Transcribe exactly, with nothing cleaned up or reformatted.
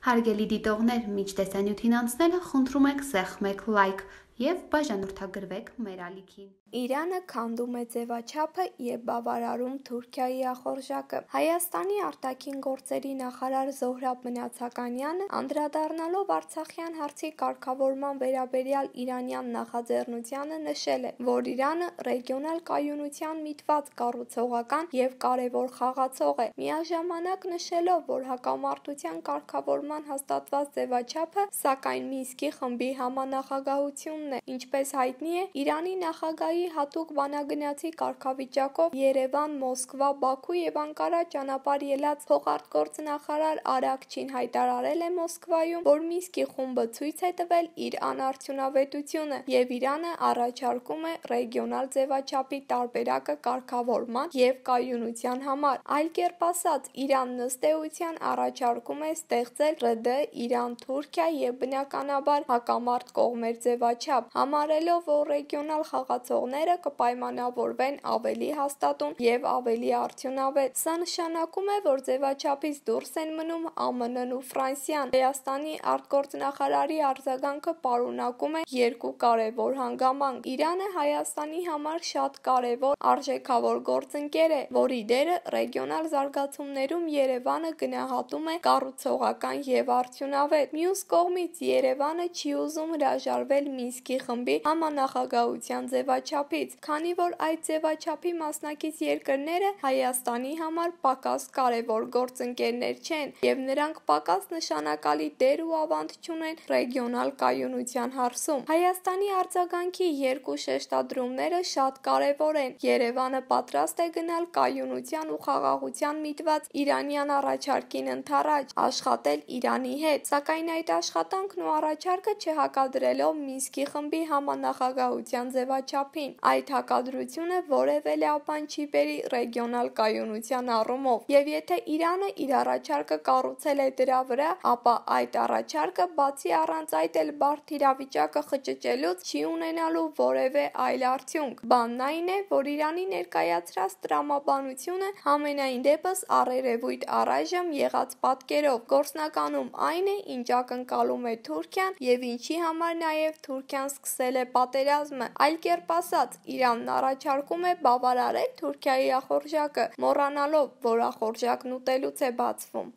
Հարգելի դիտողներ, մինչ տեսանյութին անցնելը խնդրում ենք սեղմեք լայք և բաժանորդագրվեք մեր ալիքին։ Իրանը քանդում է ձևաչափը և բավարարում Թուրքիայի ախորժակը։ Հայաստանի արտաքին գործերի նախարար Զոհրաբ Մնացականյանը, անդրադառնալով արցախյան հարցի կարգավորման վերաբերյալ իրանյան նախաձեռնությանը, նշել է, որ Իրանը ռեգիոնալ կայունության միտված կառուցողական և կարևոր խաղացող է, միաժամանակ նշելով, որ հակամարտության կարգավորման հաստատված ձևաչափը, սակայն Մինսկի խմբի համանախագահությունն է։ Ինչպես հայտնի է, Իրանի նախագահի հատուկ բանագնացի կարգավիճակով Երևան, Մոսկվա, Բաքու և Անկարա ճանապարհ ելած փոխարտգործնախարար Արաքչին հայտարարել է Մոսկվայում, որ Մինսկի խումբը ցույց է տվել իր անարդյունավետությունը, և Իրանը առաջարկում է ռեգիոնալ ձևաչափի տարբերակը կարգավորման և կայունության համար։ Այլ կերպ ասած, Իրանն ըստ էության առաջարկում է ստեղծել ՌԴ Իրան-Թուրքիա և բնականաբար հակամարտ կողմեր ձևաչափ, համարելով, որ ռեգիոնալ խաղացողները կպայմանավորվեն ավելի հաստատուն և ավելի արդյունավետ։ Սա նշանակում է, որ ձևաչափից դուրս են մնում ԱՄՆ-ն ու Ֆրանսիան։ Հայաստանի արտգործնախարարի արձագանքը պարունակում է երկու կարևոր հանգամանք։ Իրանը Հայաստանի համար շատ կարևոր արժեքավոր գործընկեր է, որի դերը ռեգիոնալ զարգացումներում Երևանը գնահատում է կառուցողական և արդյունավետ։ Մյուս կողմից, Երևանը չի ուզում հրաժարվել Մինսկի խմբի համանախագահության ձևաչափից, քանի որ այդ ձևաչափի մասնակից երկրները Հայաստանի համար պակաս կարևոր գործընկերներ չեն, և նրանք պակաս նշանակալի դեր ու ավանդ չունեն ռեգիոնալ կայունության հարցում։ Հայաստանի արձագանքի երկու շեշտադրումները շատ կարևոր են։ Երևանը պատրաստ է գնալ կայունության ու խաղաղության միտված իրանյան առաջարկին ընդառաջ, աշխատել Իրանի հետ, սակայն այդ աշխատանքն ու առաջարկը չհակադրելով Մինսկի խմբի համանախագահության ձևաչափին։ Այդ հակադրությունը որևէ լավ բան չի բերի ռեգիոնալ կայունության առումով, և եթե Իրանը իր առաջարկը կառուցել է դրա վրա, ապա այդ առաջարկը, բացի առանց այդ էլ բարդ իրավիճակը խճճելուց, չի ունենալու որևէ այլ արդյունք։ Բանն այն է, որ Իրանի ներկայացրած տրամաբանությունը համենայն դեպս առերևույթ առայժմ եղած պատկերով գործնականում այն է, ինչ ակնկալում է Թուրքիան և ինչի համար նաև Թուրքիան սկսել է պատերազմը։ Այլ կերպ ասած, Իրանն առաջարկում է բավարարել Թուրքիայի ախորժակը, մոռանալով, որ ախորժակն ուտելուց է բացվում։